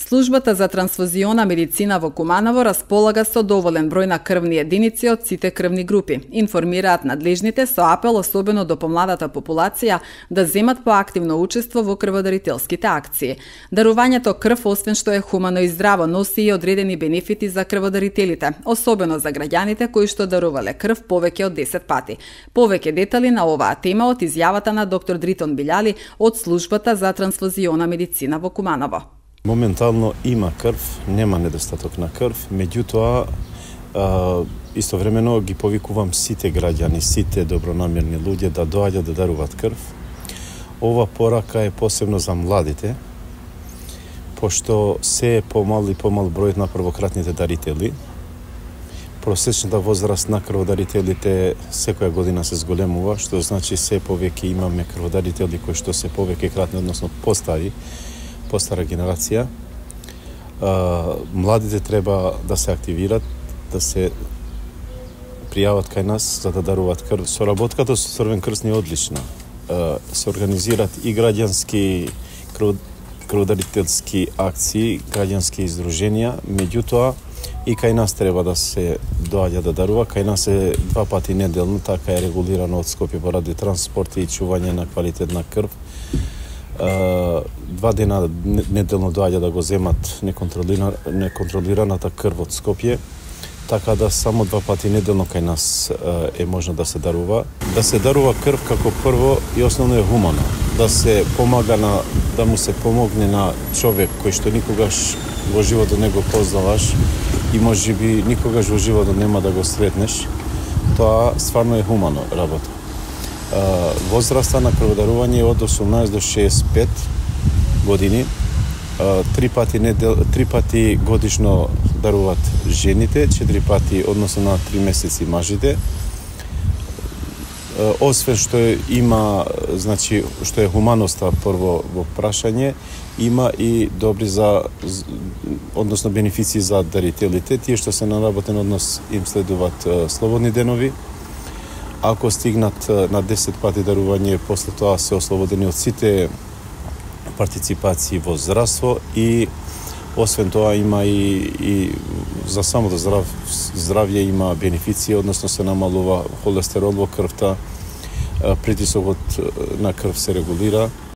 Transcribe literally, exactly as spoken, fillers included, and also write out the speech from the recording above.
Службата за трансфузиона медицина во Куманово располага со доволен број на крвни единици од сите крвни групи. Информираат надлежните со апел особено до помладата популација да земат поактивно учество во крводарителските акции. Дарувањето крв, освен што е хумано и здраво, носи и одредени бенефити за крводарителите, особено за граѓаните кои што дарувале крв повеќе од десет пати. Повеќе детали на оваа тема од изјавата на доктор Дритон Билјали од Службата за трансфузиона медицина во Куманово. Моментално има крв, нема недостаток на крв, меѓутоа истовремено ги повикувам сите граѓани, сите добронамерни луѓе да доаѓаат да даруваат крв. Ова порака е посебно за младите, пошто се е помал и помал бројот на првократните дарители. Просечната возраст на крводарителите секоја година се зголемува, што значи се повеќе имаме крводарители кои што се повеќе кратни, односно постари, постара генерација. Младите треба да се активират, да се пријават кај нас за да даруваат крв. Соработката со Црвен крст е одлична. Се организират и граѓански крводарителски акции, граѓански издруженија, меѓутоа и кај нас треба да се доаѓа да дарува. Кај нас е два пати неделно, така е регулирано од Скопје поради транспорт и чување на квалитетна крв. Два дена неделно доаѓа да го земат неконтролираната крв од Скопје, така да само два пати неделно кај нас е можно да се дарува. Да се дарува крв како прво и основно е хумано. Да се помага на, да му се помогне на човек кој што никогаш во животот не го познаваш и можеби никогаш во животот нема да го сретнеш. Тоа стварно е хумано работа. Возраста на крводарување е од осумнаесет до шеесет и пет години. Три пати недел, три пати годишно даруваат жените, четири пати односно на три месеци мажите. Освен што има, значи, што е хуманоста прво во прашање, има и добри за, односно бенефиции за дарителите. Тие што се на работен однос им следуваат слободни денови. Ако стигнат на десет пати дарување, после тоа се ослободени од сите партиципации во здравство и освен тоа има и, и за самото здрав, здравје има бенефиции, односно се намалува холестерол во крвта, притисокот на крв се регулира.